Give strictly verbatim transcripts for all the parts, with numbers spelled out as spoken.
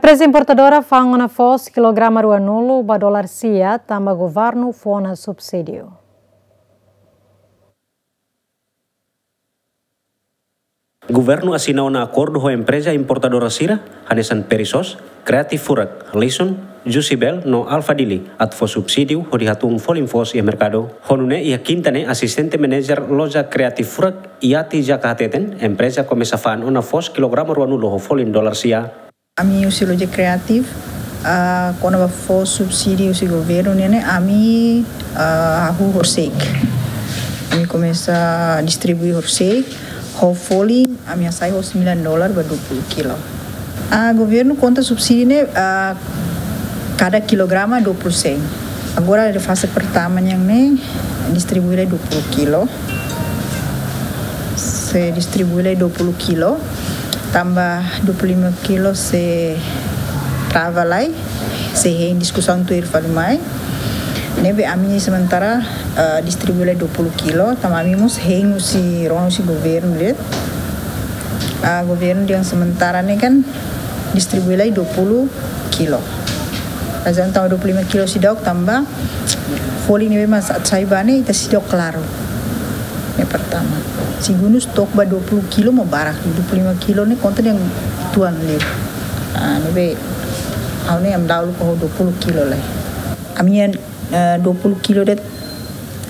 Empreza importadora fa'an ona foos kilograma ruanulu ba dolar sia tanba governu fó ona subsídiu. Governu asina ona akordu ho empreza importadora sira, hanesan Perisos, Creative Furak, Lison, Juicebel no Alpha Dili, atu fó subsídiu hodi hatún folin foos iha merkadu. Ho nune'e iha kinta ne'e asistente manager loja Creative Furak, Yati Jaka hateten, empreza komesa fa'an ona foos kilograma ruanulu ho folin dolar sia. Ami husi loja Creative, ah, kona-ba fó subsídiu husi governu ne'e, ami, ah, hahú horisehik. Ami komesa distribui horisehik, ho folin ami hasai ho sembilan dolar ba dua puluh kilo. Ah, governu konta subsídiu ne'e, ah, kada kilograma dua puluh sen. Agora, iha faze pertama nian ne'e, distribui lai dua puluh kilo. Sei distribui lai dua puluh kilo, tanba dua puluh lima kilo sei trava lai, sei hein diskusaun tuir fali mai. Ne'ebé ami sementara, eh, distribui lai dua puluh kilo, tanba ami mós hein husi rona husi governu de'it. Ah, governu dehan sementara ne'e kan distribui lai dua puluh kilo. Razaun tanba dua puluh lima kilo seidauk tanba folin ne'ebé mak atu sai ba ne'e ita seidauk klaru. Ne'e pertama. Segundu, stok ba dua puluh kilo mak barak, dua puluh lima kilo ne'e konta dehan tuan liu. Ah, ne'ebé ha'u ne'e ami dahuluk ho dua puluh kilo lai. Ami-nia, eh, dua puluh kilo de'it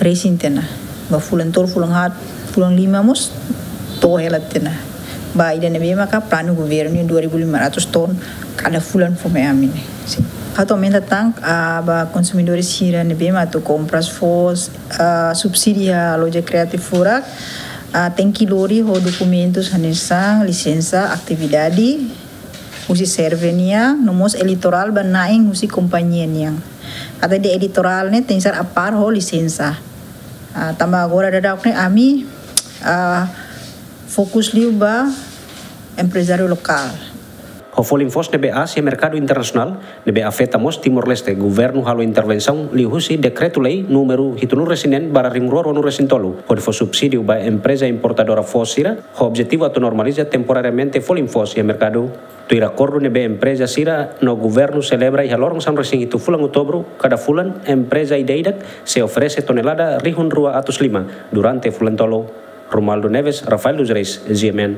resin tiha ona. Ba fulan tolu, fulan haat, fulan lima mós to'o hela tiha ona. Ba ida ne'ebé maka planu governu dua ribu lima ratus ton kada fulan fó mai ami ne'e. Sin. Atu aumenta tan, ah, ba konsumidór sira ne'ebé mak atu kompras foos, ah, subsídiu iha loja Creative Furak, ah, tenke lori ho dokumentus hanesan lisensa atividade husi SERVE nian, no mós eleitorál ba na'in husi kompañia nian. Katak ida eleitorál ne'e tenke ser apár ho lisensa. Ah, tanba agora daudaun ne'e ami, ah, fokus liu ba emprezáriu lokál. Ho folin foos ne'ebé aas iha merkadu internasionál, ne'ebé afeta mós Timor-Leste, governu halo intervensaun liuhusi dekretu-lei númeru hitunulu resin neen barra rihun rua ruanulu resin tolu, hodi fó subsídiu ba empreza importadora foos sira, ho objetivu atu normaliza temporariamente folin foos iha merkadu. Tuir akordu ne'ebé empreza sira no governu selebra iha loron sanulu resin hitu fulan Outubru, kada fulan empreza ida-idak sei oferese tonelada rihun rua atus lima durante fulan tolu. Romualdo Neves, Rafael dos Reis, G M N.